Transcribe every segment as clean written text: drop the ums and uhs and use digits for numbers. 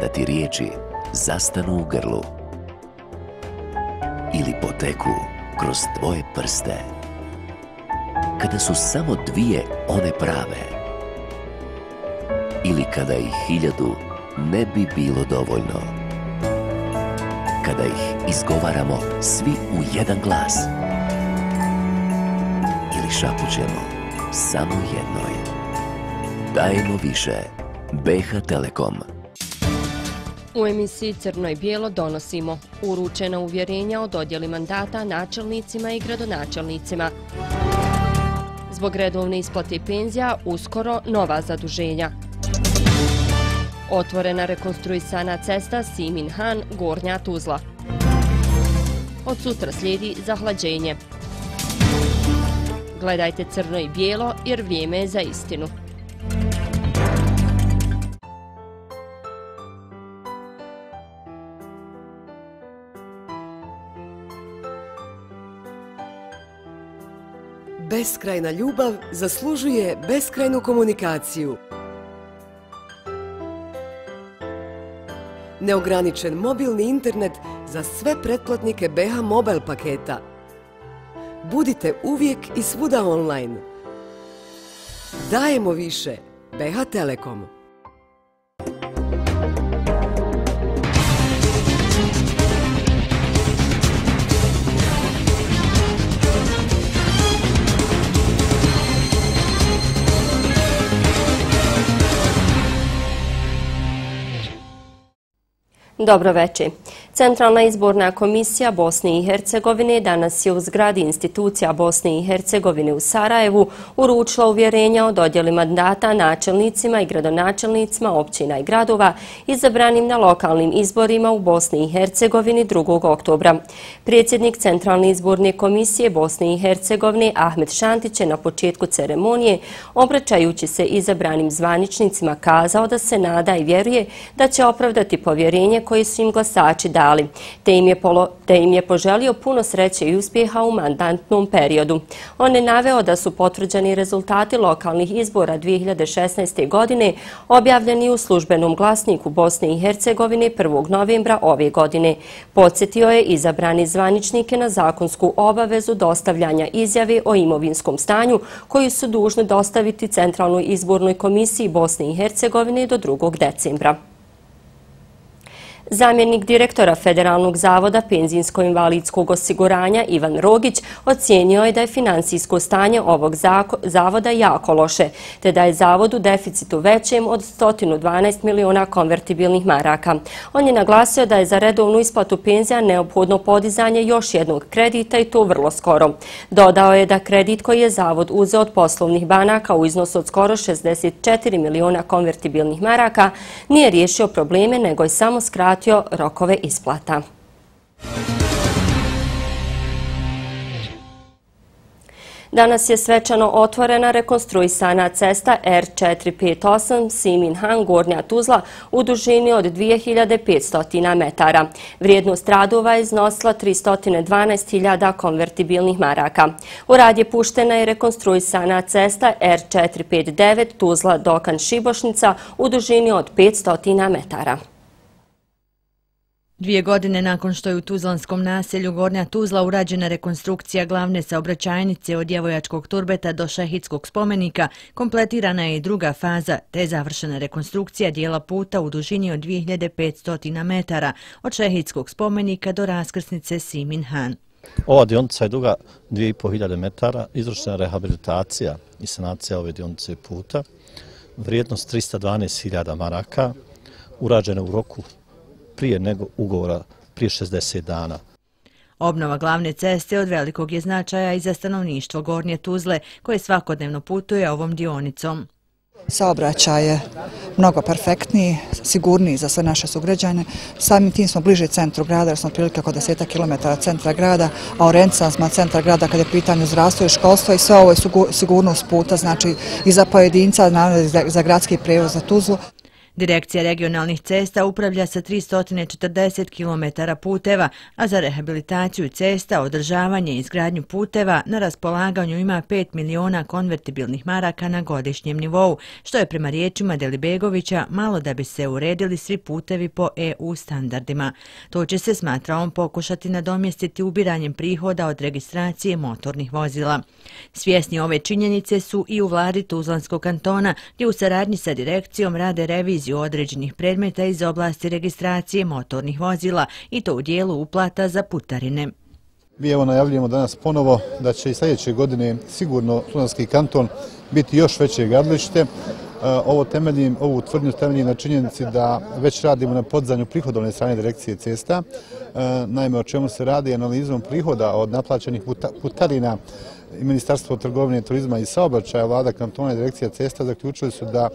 kada ti riječi zastanu u grlu ili poteku kroz tvoje prste, kada su samo dvije one prave ili kada ih 1000 ne bi bilo dovoljno, kada ih izgovaramo svi u jedan glas ili šapućemo samo jednoj. Dajemo više. BH Telekom. U emisiji Crno i bijelo donosimo uručena uvjerenja o dodjeli mandata načelnicima i gradonačelnicima. Zbog redovne isplate penzija uskoro nova zaduženja. Otvorena rekonstruisana cesta Simin-Han – Gornja Tuzla. Od sutra slijedi zahlađenje. Gledajte Crno i bijelo jer vrijeme je za istinu. Beskrajna ljubav zaslužuje beskrajnu komunikaciju. Neograničen mobilni internet za sve pretplatnike BH Mobile paketa. Budite uvijek i svuda online. Dajemo više. BH Telekom. Dobro večer. Centralna izborna komisija Bosne i Hercegovine danas je u zgradi institucija Bosne i Hercegovine u Sarajevu uručila uvjerenja o dodjeli mandata načelnicima i gradonačelnicima općina i gradova izabranim na lokalnim izborima u Bosni i Hercegovini 2. oktobra. Predsjednik Centralne izborne komisije Bosne i Hercegovine Ahmed Šantić je na početku ceremonije, obraćajući se izabranim zvaničnicima, kazao da se nada i vjeruje da će opravdati povjerenje koje su im glasači dali, te im je poželio puno sreće i uspjeha u mandatnom periodu. On je naveo da su potvrđeni rezultati lokalnih izbora 2016. godine objavljeni u službenom glasniku Bosne i Hercegovine 1. novembra ove godine. Podsjetio je izabrani zvaničnike na zakonsku obavezu dostavljanja izjave o imovinskom stanju koju su dužni dostaviti Centralnoj izbornoj komisiji Bosne i Hercegovine do 2. decembra. Zamjenik direktora Federalnog zavoda penzijsko-invalidskog osiguranja Ivan Rogić ocijenio je da je finansijsko stanje ovog zavoda jako loše, te da je zavod u deficitu većem od 112 miliona konvertibilnih maraka. On je naglasio da je za redovnu isplatu penzija neophodno podizanje još jednog kredita i to vrlo skoro. Dodao je da kredit koji je zavod uzeo od poslovnih banaka u iznosu od skoro 64 miliona konvertibilnih maraka nije riješio probleme, nego je samo skratio rokove isplata. Danas je svečano otvorena rekonstruisana cesta R458 Simin-Han – Gornja Tuzla u dužini od 2500 metara. Vrijednost radova je iznosila 312.000 konvertibilnih maraka. U rad je puštena i rekonstruisana cesta R459 Tuzla Dokan Šibošnica u dužini od 500 metara. 2 godine nakon što je u tuzlanskom naselju Gornja Tuzla urađena rekonstrukcija glavne saobraćajnice od Djevojačkog turbeta do Šehidskog spomenika, kompletirana je i druga faza, te je završena rekonstrukcija dijela puta u dužini od 2500 metara od Šehidskog spomenika do raskrsnice Simin-Han. Ova dionica je duga 2500 metara, izvršena rehabilitacija i sanacija ove dionice puta, vrijednost 312.000 maraka, urađena u roku prije nego ugovora prije 60 dana. Obnova glavne ceste od velikog je značaja i za stanovništvo Gornje Tuzle, koje svakodnevno putuje ovom dionicom. Saobraćaj je mnogo perfektniji, sigurniji za sve naše sugrađane. Samim tim smo bliže centru grada, jer smo otprilike oko 10 km centra grada, a orijentisani smo centra grada kada je pitanje zdravstvo i školstvo i sve ovo je sigurnost puta, znači i za pojedinca, naravno za gradski prijevoz za Tuzlu. Direkcija regionalnih cesta upravlja sa 340 km puteva, a za rehabilitaciju cesta, održavanje i izgradnju puteva na raspolaganju ima 5 miliona konvertibilnih maraka na godišnjem nivou, što je prema riječima Delibegovića malo da bi se uredili svi putevi po EU standardima. To će se, smatra on, pokušati nadomjestiti ubiranjem prihoda od registracije motornih vozila. Svjesni ove činjenice su i u vladi Tuzlanskog kantona, gdje u saradnji sa direkcijom rade reviziju određenih predmeta iz oblasti registracije motornih vozila i to u dijelu uplata za putarine. Mi evo najavljujemo danas ponovo da će i sljedeće godine sigurno Tuzlanski kanton biti još veće gradilište. Ovu tvrdnju temeljim na činjenici da već radimo na podizanju prihodovne strane direkcije cesta. Naime, o čemu se radi analizom prihoda od naplaćenih putarina i Ministarstvo trgovine, turizma i saobraćaja, vlada kantona i direkcija cesta zaključili su da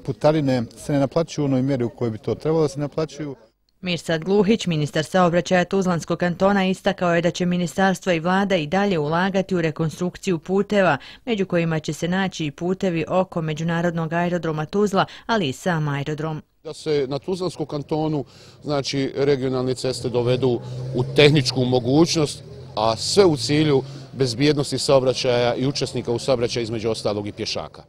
putarine se ne naplaćuju u onoj mjeri u kojoj bi to trebalo da se naplaćuju. Mirsad Gluhić, ministar saobraćaja Tuzlanskog kantona, istakao je da će ministarstvo i vlada i dalje ulagati u rekonstrukciju puteva, među kojima će se naći i putevi oko međunarodnog aerodroma Tuzla, ali i sam aerodrom. Da se na Tuzlanskom kantonu, znači, regionalne ceste dovedu u tehničku mogućnost, a sve u cilju bezbjednosti saobraćaja i učesnika u saobraćaju, između ostalog i pješaka.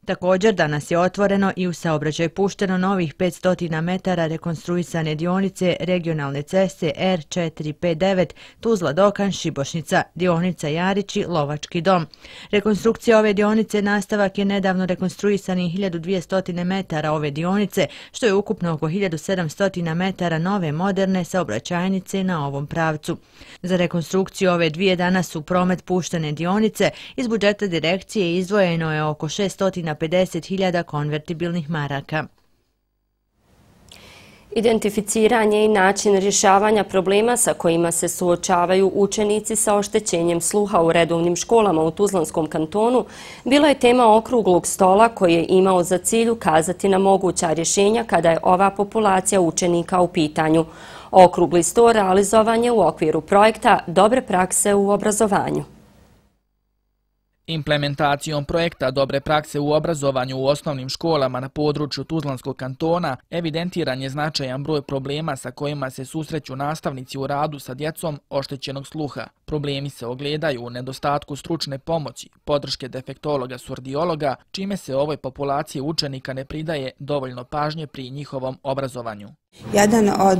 Također, danas je otvoreno i u saobraćaj pušteno novih 500 metara rekonstruisane dionice regionalne ceste R459 Tuzla-Dokan Šibošnica, dionica Jarići-Lovački dom. Rekonstrukcija ove dionice nastavak je nedavno rekonstruisanih 1200 metara ove dionice, što je ukupno oko 1700 metara nove moderne saobraćajnice na ovom pravcu. Za rekonstrukciju ove dvije danas u promet puštene dionice iz budžeta direkcije izdvojeno je oko 650.000 konvertibilnih maraka. Identificiranje i način rješavanja problema sa kojima se suočavaju učenici sa oštećenjem sluha u redovnim školama u Tuzlanskom kantonu bila je tema okruglog stola koji je imao za cilj ukazati na moguća rješenja kada je ova populacija učenika u pitanju. Okrugli sto realizovan je u okviru projekta Dobre prakse u obrazovanju. Implementacijom projekta Dobre prakse u obrazovanju u osnovnim školama na području Tuzlanskog kantona evidentiran je značajan broj problema sa kojima se susreću nastavnici u radu sa djecom oštećenog sluha. Problemi se ogledaju u nedostatku stručne pomoći, podrške defektologa surdiologa, čime se ovoj populaciji učenika ne pridaje dovoljno pažnje pri njihovom obrazovanju. Jedan od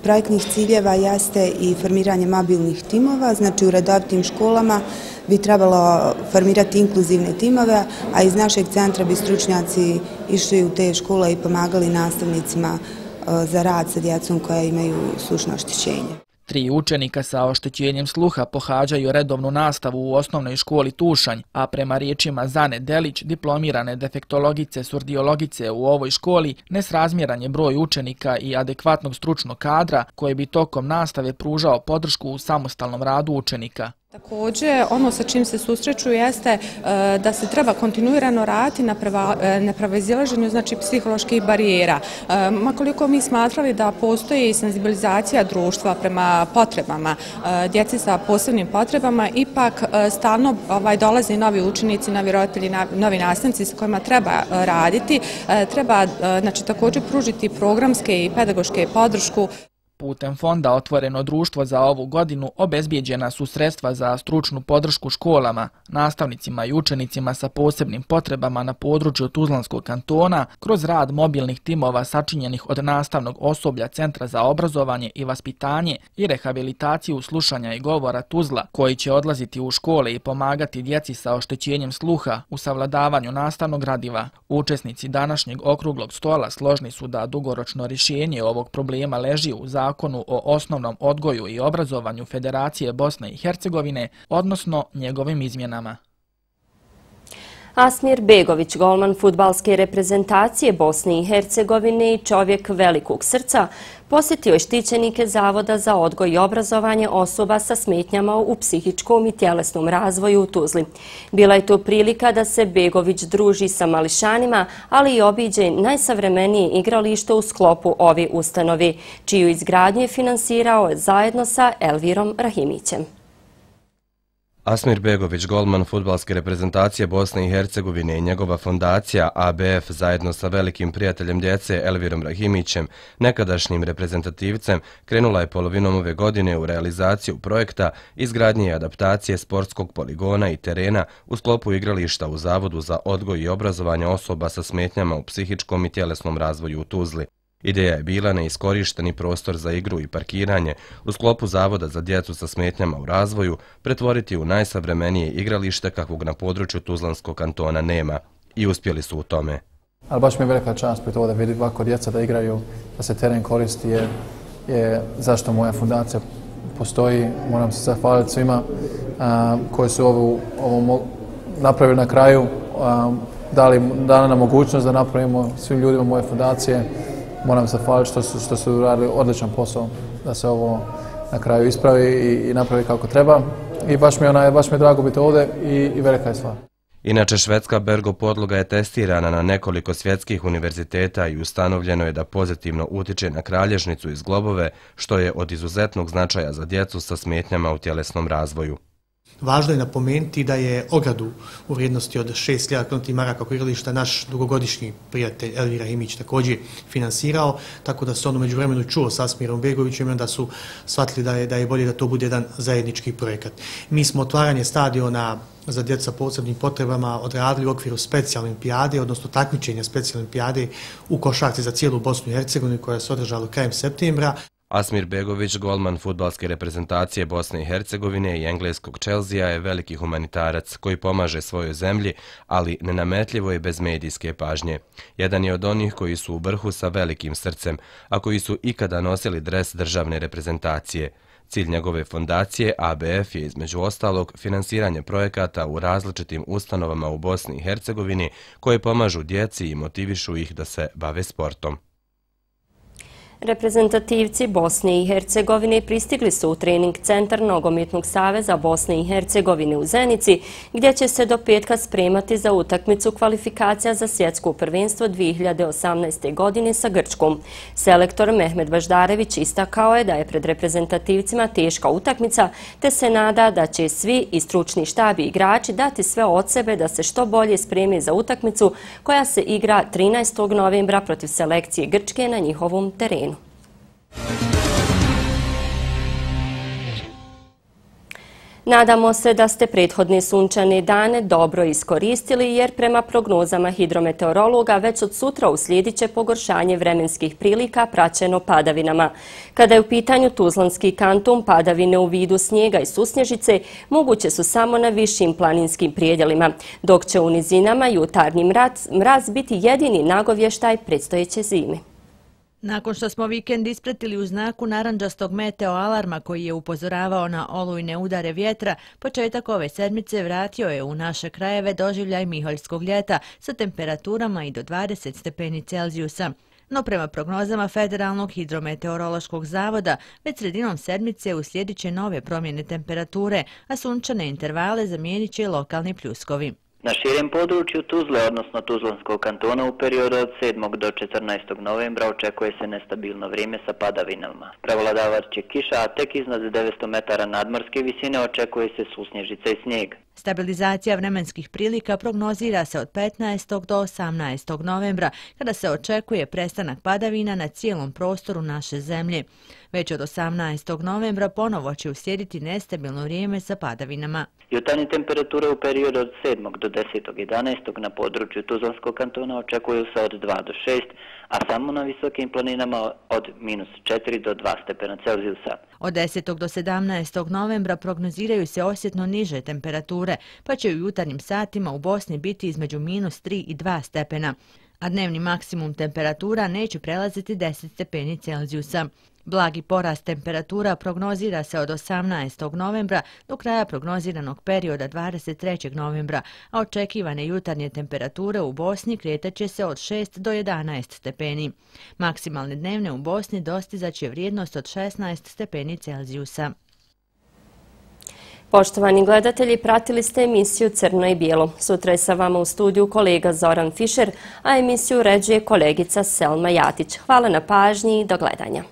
projektnih ciljeva jeste i formiranje mobilnih timova, znači u redovitim školama bi trebalo formirati inkluzivne timove, a iz našeg centra bi stručnjaci išli u te škole i pomagali nastavnicima za rad sa djecom koja imaju slušno oštećenje. 3 učenika sa oštećenjem sluha pohađaju redovnu nastavu u osnovnoj školi Tušanj, a prema riječima Zane Delić, diplomirane defektologice surdiologice u ovoj školi, nesrazmjeran je broj učenika i adekvatnog stručnog kadra koji bi tokom nastave pružao podršku u samostalnom radu učenika. Također, ono sa čim se susreću jeste da se treba kontinuirano raditi na prevazilaženju, znači, psiholoških barijera. Makoliko mi smatrali da postoji senzibilizacija društva prema potrebama djeci sa posebnim potrebama, ipak stalno dolaze novi učenici, novi roditelji, novi nastavnici sa kojima treba raditi. Treba, znači, također pružiti programske i pedagoške podršku. Putem fonda Otvoreno društvo za ovu godinu obezbijeđena su sredstva za stručnu podršku školama, nastavnicima i učenicima sa posebnim potrebama na području Tuzlanskog kantona kroz rad mobilnih timova sačinjenih od nastavnog osoblja Centra za obrazovanje i vaspitanje i rehabilitaciju slušanja i govora Tuzla, koji će odlaziti u škole i pomagati djeci sa oštećenjem sluha u savladavanju nastavnog gradiva. Učesnici današnjeg okruglog stola složni su da dugoročno rješenje ovog problema leži u Zakonu o osnovnom odgoju i obrazovanju Federacije Bosne i Hercegovine, odnosno njegovim izmjenama. Asmir Begović, golman fudbalske reprezentacije Bosne i Hercegovine i čovjek velikog srca, posjetio je štićenike Zavoda za odgoj i obrazovanje osoba sa smetnjama u psihičkom i tjelesnom razvoju u Tuzli. Bila je to prilika da se Begović druži sa mališanima, ali i obiđe najsavremenije igralište u sklopu ove ustanove, čiju izgradnju je finansirao zajedno sa Elvirom Rahimićem. Asmir Begović, golman fudbalske reprezentacije Bosne i Hercegovine i njegova fondacija ABF zajedno sa velikim prijateljem djece Elvirom Rahimićem, nekadašnjim reprezentativcem, krenula je polovinom ove godine u realizaciju projekta izgradnje i adaptacije sportskog poligona i terena u sklopu igrališta u Zavodu za odgoj i obrazovanje osoba sa smetnjama u psihičkom i tjelesnom razvoju u Tuzli. Ideja je bila neiskorišteni prostor za igru i parkiranje u sklopu Zavoda za djecu sa smetnjama u razvoju pretvoriti u najsavremenije igralište kakvog na području Tuzlanskog kantona nema. I uspjeli su u tome. Ali baš mi je velika čast biti ovdje, vidjeti ovako djeca da igraju, da se teren koristi je zašto moja fundacija postoji. Moram se zahvaliti svima koji su ovo napravili na kraju, dali nam mogućnost da napravimo svim ljudima moje fundacije. Moram se zahvaliti što su radili odličan posao da se ovo na kraju ispravi i napravi kako treba. I baš mi je drago biti ovdje i velika je stvar. Inače, švedska Bergo podloga je testirana na nekoliko svjetskih univerziteta i ustanovljeno je da pozitivno utiče na kralježnicu iz globove, što je od izuzetnog značaja za djecu sa smetnjama u tjelesnom razvoju. Važno je napomenuti da je ogradu u vrijednosti od 6.000 km maraka oko igrališta naš dugogodišnji prijatelj Elvir Rahimić također finansirao, tako da se on umeđu vremenu čuo s Asmirom Begovićem i onda su shvatili da je bolje da to bude jedan zajednički projekat. Mi smo otvaranje stadiona za djecu sa posebnim potrebama odradili u okviru specijalne olimpijade, odnosno takmičenja specijalne olimpijade u košarci za cijelu Bosnu i Hercegovinu koja se održala krajem septembra. Asmir Begović, golman fudbalske reprezentacije Bosne i Hercegovine i engleskog Chelsea, je veliki humanitarac koji pomaže svojoj zemlji, ali nenametljivo je bez medijske pažnje. Jedan je od onih koji su u vrhu sa velikim srcem, a koji su ikada nosili dres državne reprezentacije. Cilj njegove fondacije ABF je između ostalog finansiranje projekata u različitim ustanovama u Bosni i Hercegovini koje pomažu djeci i motivišu ih da se bave sportom. Reprezentativci Bosne i Hercegovine pristigli su u trening centar Nogometnog saveza Bosne i Hercegovine u Zenici, gdje će se do petka spremati za utakmicu kvalifikacija za svjetsko prvenstvo 2018. godine sa Grčkom. Selektor Mehmed Baždarević istakao je da je pred reprezentativcima teška utakmica, te se nada da će svi i stručni štab i igrači dati sve od sebe da se što bolje spreme za utakmicu koja se igra 13. novembra protiv selekcije Grčke na njihovom terenu. Nadamo se da ste prethodne sunčane dane dobro iskoristili jer prema prognozama hidrometeorologa već od sutra uslijedit će pogoršanje vremenskih prilika praćeno padavinama. Kada je u pitanju Tuzlanski kanton, padavine u vidu snijega i susnježice moguće su samo na višim planinskim prijedjelima, dok će u nizinama jutarnji mraz biti jedini nagovještaj predstojeće zime. Nakon što smo vikend ispratili u znaku narandžastog meteo alarma koji je upozoravao na olujne udare vjetra, početak ove sedmice vratio je u naše krajeve doživljaj miholjskog ljeta sa temperaturama i do 20 stepeni Celzijusa. No prema prognozama Federalnog hidrometeorološkog zavoda, već sredinom sedmice uslijedit će nove promjene temperature, a sunčane intervale zamijenit će lokalni pljuskovi. Na širem području Tuzle, odnosno Tuzlanskog kantona, u periodu od 7. do 14. novembra očekuje se nestabilno vrijeme sa padavinama. Prevladavat će kiša, a tek iznad 900 metara nadmorske visine očekuje se susnježica i snijeg. Stabilizacija vremenskih prilika prognozira se od 15. do 18. novembra, kada se očekuje prestanak padavina na cijelom prostoru naše zemlje. Već od 18. novembra ponovo će uslijediti nestabilno vrijeme sa padavinama. Jutarnje temperature u periodu od 7. do 10.11. na području Tuzlanskog kantona očekuju se od 2 do 6, a samo na visokim planinama od -4 do 2 stepena Celzijusa. Od 10. do 17. novembra prognoziraju se osjetno niže temperature, pa će u jutarnjim satima u Bosni biti između -3 i 2 stepena, a dnevni maksimum temperatura neće prelaziti 10 stepeni Celzijusa. Blagi porast temperatura prognozira se od 18. novembra do kraja prognoziranog perioda 23. novembra, a očekivane jutarnje temperature u Bosni kretaće se od 6 do 11 stepeni. Maksimalne dnevne u Bosni dostizaće vrijednost od 16 stepeni Celzijusa. Poštovani gledatelji, pratili ste emisiju Crno i bijelo. Sutra je sa vama u studiju kolega Zoran Fišer, a emisiju uređuje kolegica Selma Jatić. Hvala na pažnji i do gledanja.